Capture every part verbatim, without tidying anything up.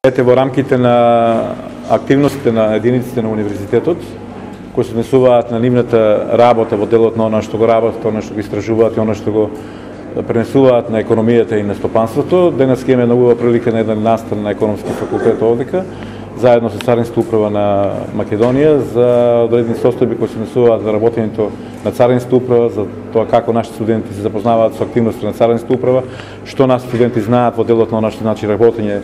Ете во рамките на активностите на единиците на универзитетот, кои се однесуваат на нивната работа во делот на она што го работат, она што го истражуваат и она што го пренесуваат на економијата и на стопанството. Денес ќе имаме многу прилика на еден настан на економски факултет овдека, заедно со Царинска управа на Македонија, за одредени состојби кои се однесуваат за работењето на Царинска управа, за тоа како нашите студенти се запознаваат со активности на Царинска управа, што нашите студенти знаат во делот на она што значи работење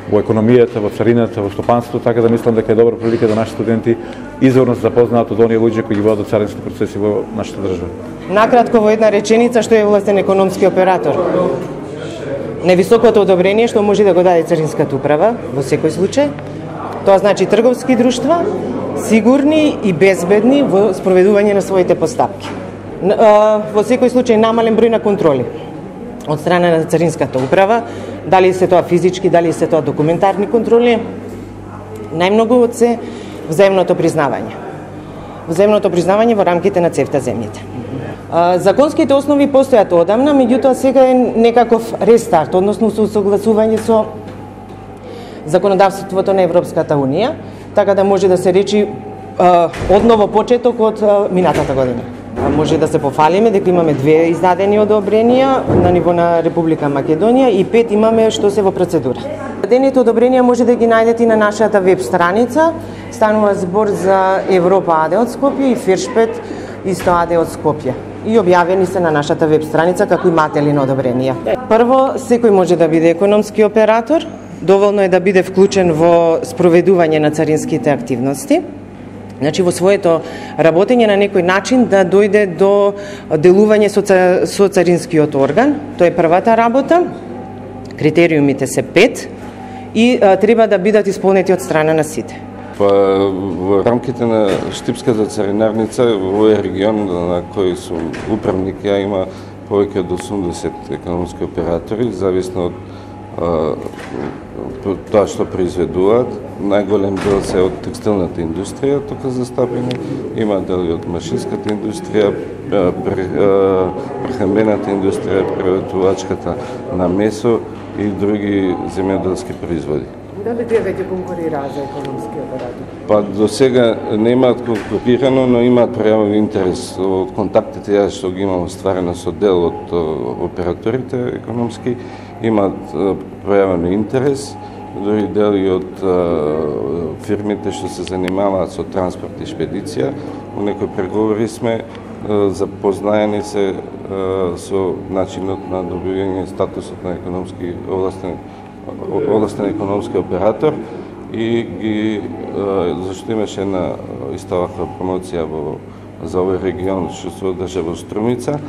во економијата, во царината, во стопанството, така да мислам дека е добра прилика да нашите студенти изворно се запознаат од оние луѓе кои ги водат царински процеси во нашата држава. Накратко во една реченица, што е властен економски оператор? Највисокото одобрение што може да го даде Царинската управа во секој случај, тоа значи трговски друштва сигурни и безбедни во спроведување на своите постапки. Во секој случај намален број на контроли од страна на Царинската управа, дали се тоа физички, дали се тоа документарни контроли, најмногу од се взаимното признавање. Взаимното признавање во рамките на цевта земјите. Законските основи постојат одамна, меѓутоа сега е некаков рестарт, односно со согласување со законодавството на Европската унија, така да може да се речи одново почеток од минатата година. Може да се пофалиме дека имаме две издадени одобренија на ниво на Република Македонија и пет имаме што се во процедура. Издадените одобренија може да ги најдете и на нашата веб страница. Станува збор за Европа АД од Скопје и Фершпет исто АД од Скопје. И објавени се на нашата веб страница како иматели на одобренија. Прво, секој може да биде економски оператор, доволно е да биде вклучен во спроведување на царинските активности. Значи, во своето работење на некој начин да дојде до делување со, со царинскиот орган. Тоа е првата работа. Критериумите се пет и а, треба да бидат исполнети од страна на сите. Па, во рамките на Штипската царинарница, во овој регион на кој сум управник, ја има повеќе од осумдесет економски оператори, зависно од тоа што произведуваат. Најголем дел се од текстилната индустрија, тука застапени. Има дели од машинската индустрија, прехранбената индустрија, преработувачката на месо и други земјоделски производи. Дали тие веќе конкурираат за економски оператор? Па до сега не имаат конкурирано, но имаат пројавен интерес. Од контактите ја што ги имам остварено со дел од операторите економски, имаат пројавен интерес, дори дели од фирмите што се занимаваат со транспорт и шпедиција. Во некои преговори сме запознаени се со начинот на добивање статусот на економски областен областен економски оператор и ги зашто имаше една иста ваква промоција во за овој регион што се одржа во Струмица.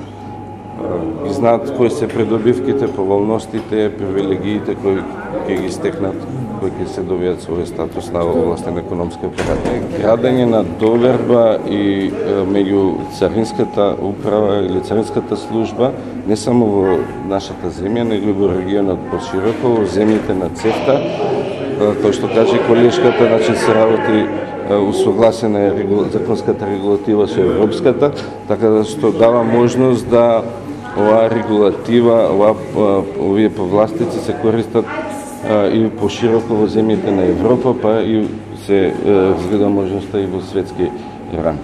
И знаат кои се придобивките, поволностите, привилегиите кои ќе ги стекнат, кои ќе се добијат со овој статус на областен економски оператор. Градење на доверба и меѓу Царинската управа или Царинската служба не само во нашата земја, него и во регионот пошироко, во земјите на цевта, кој што каже колешката, значи се работи усогласена е законската регулатива со европската, така да што дава можност да оваа регулатива, оваа, овие повластици се користат и пошироко во земјите на Европа, па и се разгледа можноста и во светски ран.